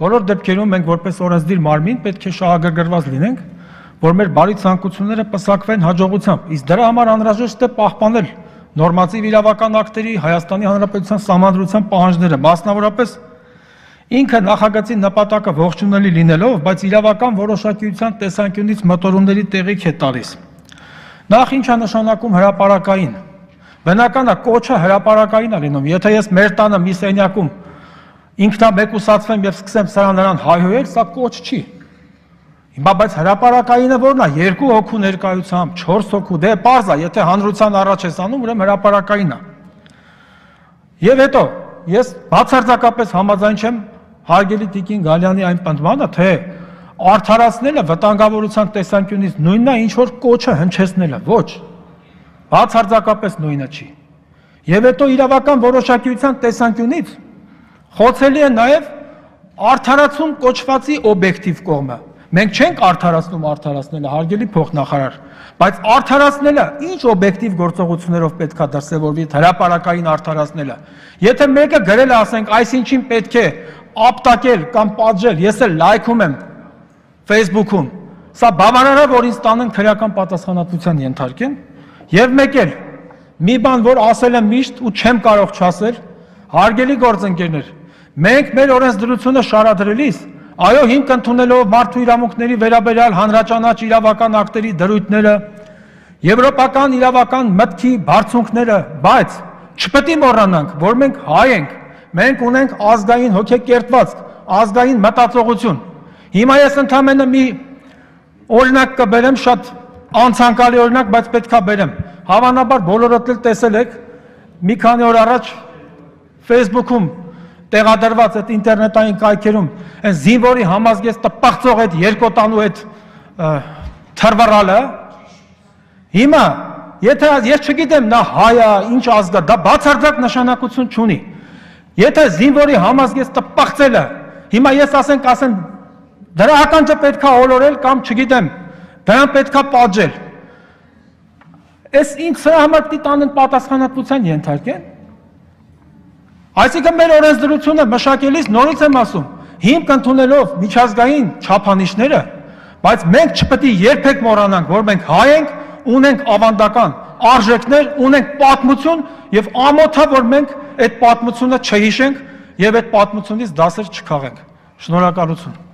Բոլոր դեպքերում մենք որպես օրենսդիր մարմին պետք է շահագրգռված լինենք, որ մեր բարի ցանկությունները պսակվեն հաջողությամբ, իսկ դրա համար անհրաժեշտ է պահպանել նորմատիվ իրավական ակտերի Հայաստանի Հանրապետության Սահմանադրության պահանջները, մասնավորապես ինքը նախագծի նպատակը ողջունելի լինելով, բայց իրավական որոշակիության տեսանկյունից մտորումների տեղիք է տալիս։ Նախ ինչ է նշանակում հրապարակային։ Բնական է կոչը հրապարակային է լինում, եթե ես մեր տանը մի սենյակում ինքնամեկուսացվեմ եւ սկսեմ սրան նրան հայհոյել, սա կոչ չի։ Հիմա բայց հրապարակայինը որն է, 2 հոգու ներկայությամբ, 4 հոգու, դե պարզ է, եթե հանրության առաջ ես անում, ուրեմն հրապարակային է։ Եվ հետո ես բացարձակապես համաձայն չեմ հարգելի Տիկին Գալյանի այն պնդմանը, թե արդարացնելը վտանգավորության տեսանկյունից նույնն է, ինչ որ կոչը հնչեցնելը, ոչ։ Բացարձակապես նույնը չի։ Եվ հետո իրավական որոշակիության տեսանկյունից խոցելի է նաև արդարացում կոչվածի օբյեկտիվ կողմը։ Մենք չենք արդարացնում արդարացնելը, հարգելի փոխնախարար, բայց արդարացնելը ինչ օբյեկտիվ գործողություններով պետք է դրսևորվի հրապարակային արդարացնելը։ Եթե մեկը գրել է, ասենք, այսինչին պետք է ապտակել կամ պատժել, ես էլ լայքում եմ Facebook-ում, սա բավարար է, որ ինձ տանեն քրեական պատասխանատվության ենթարկեն, եւ մեկ էլ մի բան, որ ասել եմ միշտ ու չեմ կարող չասել, հարգելի գործընկերներ, մենք մեր օրենսդրությունը շարադրելիս, այո, հիմք ընդունելով մարդու իրավունքների վերաբերյալ հանրաճանաչ իրավական ակտերի դրույթները, եվրոպական իրավական մտքի բարձունքները, բայց չպետք է մոռանանք, որ մենք հայ ենք, մենք ունենք ազգային հոգեկերտվածք, ազգային մտածողություն։ Հիմա ես ընդամենը մի օրինակ կբերեմ, շատ անցանկալի օրինակ, բայց պետք է բերեմ։ Հավանաբար բոլորդ էլ տեսել եք մի քանի օր առաջ Facebook-ում տեղադրված այդ ինտերնետային կայքերում այն զինվորի համազգեծ տպաղծող այդ երկոտանու այդ թռվռալը, հիմա եթե ես չգիտեմ նա հայ է, ինչ ազգ է, դա բացարձակ նշանակություն չունի։ Եթե զինվորի համազգեծ տպաղծելը, հիմա ես ասեմ դրա ականջը պետք է ոլորել կամ չգիտեմ, դրան պետք է պատժել։ Այս ինձ սրա համար պիտի տանեն պատասխանատվության ենթարկեն։ Այսինքն մեր օրենսդրությունը մշակելիս նորից եմ ասում, հիմք ընդունելով միջազգային չափանիշները, բայց մենք չպետք է երբեք մոռանանք, որ մենք հայ ենք, ունենք ավանդական արժեքներ, ունենք պատմություն եւ ամոթ է, որ մենք այդ պատմությունը չհիշենք եւ այդ պատմությունից դասեր չքաղենք։ Շնորհակալություն։